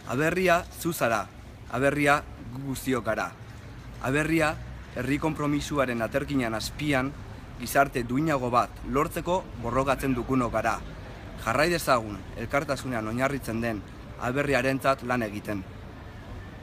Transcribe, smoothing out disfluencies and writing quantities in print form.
Aberria zu zara, aberria gu guztiok gara. Aberria herri konpromisuaren aterkinan azpian gizarte duinago bat lortzeko borrokatzen dugunok gara. Jarrai dezagun elkartasunean oinarritzen den aberriarentzat lan egiten.